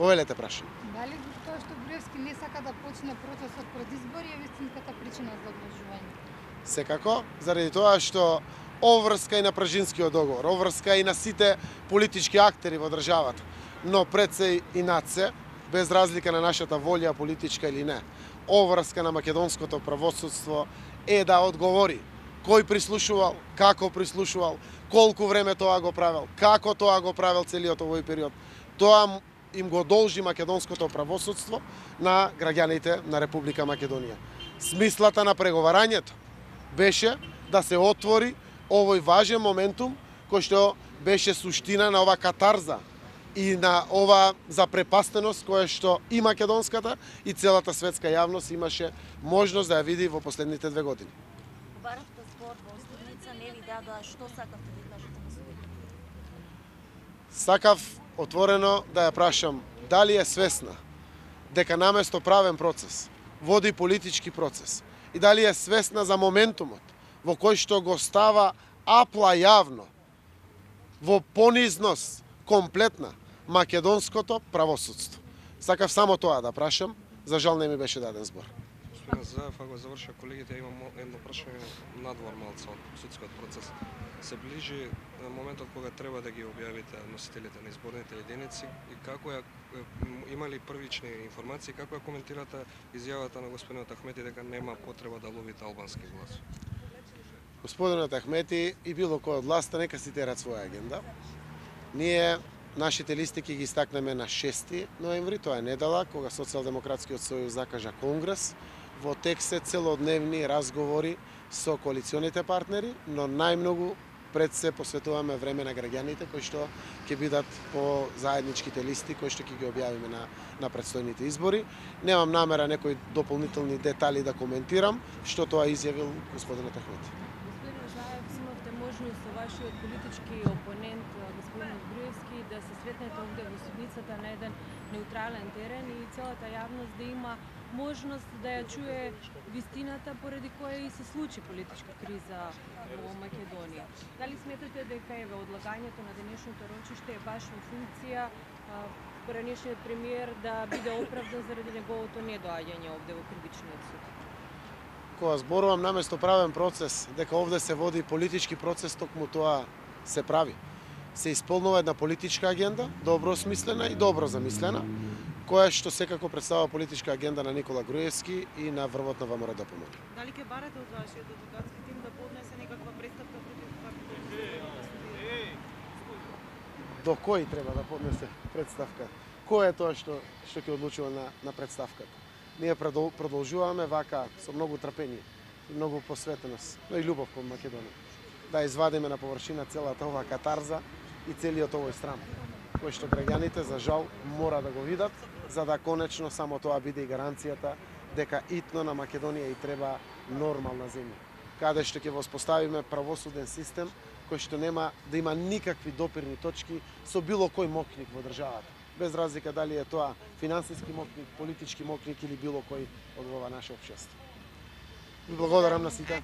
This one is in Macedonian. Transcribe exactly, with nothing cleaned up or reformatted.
Повелете прашање. Дали тоа што Груевски не сака да почне процесот пред избори е вистинската причина за одложување? Секако, заради тоа што обврска и на Пражинскиот договор, обврска и на сите политички актери во државата, но пред се и над се, без разлика на нашата волја политичка или не, обврска на македонското правосудство е да одговори кој прислушувал, како прислушувал, колку време тоа го правел, како тоа го правел целиот овој период. Тоа им го должи македонското правосудство на граѓаните на Република Македонија. Смислата на преговарањето беше да се отвори овој важен моментум кој што беше суштина на ова катарза и на ова запрепастеност која што и македонската и целата светска јавност имаше можност да ја види во последните две години. Баравте збор во Остивница, не ви дадоа што сакавте да кажете на судите? Сакав отворено да ја прашам дали е свесна дека наместо правен процес води политички процес и дали е свесна за моментумот во кој што го става апла јавно во понизност комплетна македонското правосудство. Сакав само тоа да прашам, за жал не ми беше даден збор. Господин Заев, ако заврша колегите, имам едно прашање надвор малце од судскиот процес. Се ближи моментот кога треба да ги објавите носителите на изборните единици и како ја имали првични информации, како ја коментирате изјавата на господинот Ахмети дека нема потреба да ловите албански глас? Господинот Ахмети и било кој од власта нека си терат своја агенда. Ние нашите листи ќе ги истакнеме на шести ноември, тоа е недела, кога Социјалдемократскиот сојуз закажа конгрес. Во текст се целодневни разговори со коалиционите партнери, но најмногу пред се посветуваме време на граѓаните кои што ќе бидат по заедничките листи кои што ќе ги објавиме на на претстојните избори. Немам намера некои дополнителни детали да коментирам што тоа изјавил господинот Ахмети. Господин Заев, имавте можност со вашиот политички опонент господин Груевски да се сретнете овде во судницата на еден неутрален терен и целата јавност да има можност да ја чуе вистината поради која и се случи политичка криза во Македонија. Дали сметате дека еве одлагањето на денешното рочиште е баш во функција поранешниот премиер да биде оправдан заради неговото недоаѓање овде во кривичниот суд? Кога зборувам наместо правен процес, дека овде се води политички процес, токму тоа се прави. Се исполнува една политичка агенда, добро смислена и добро замислена, која што секако представува политичка агенда на Никола Груевски и на врвот на ВМРО-ДПМН. Дали ќе барате од вашиот адвокатски тим да поднесе некаква представка против До кој треба да поднесе представка? Кој е тоа што што ќе одлучува на на представката? Ние продолжуваме вака со многу трпение, многу посветеност, но и љубов кон Македонија. Да извадиме на површина целата ова катарза и целиот овој срам, кој што граѓаните за жал мора да го видат, за да конечно само тоа биде и гаранцијата дека итно на Македонија и треба нормална земја, каде што ќе воспоставиме правосуден систем кој што нема да има никакви допирни точки со било кој мокник во државата, без разлика дали е тоа финансиски мокник, политички мокник или било кој од ова наше општество. Ви благодарам на сите.